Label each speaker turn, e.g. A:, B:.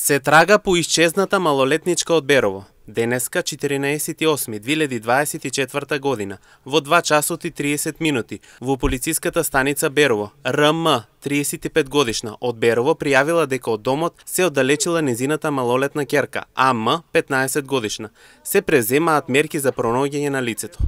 A: Се трага по исчезната малолетничка од Берово. Денеска, 14.8.2024 година, во 2 часот и 30 минути, во полициската станица Берово, РМ, 35 годишна, од Берово пријавила дека од домот се оддалечила незината малолетна ќерка, АМ, 15 годишна. Се преземаат мерки за пронаоѓање на лицето.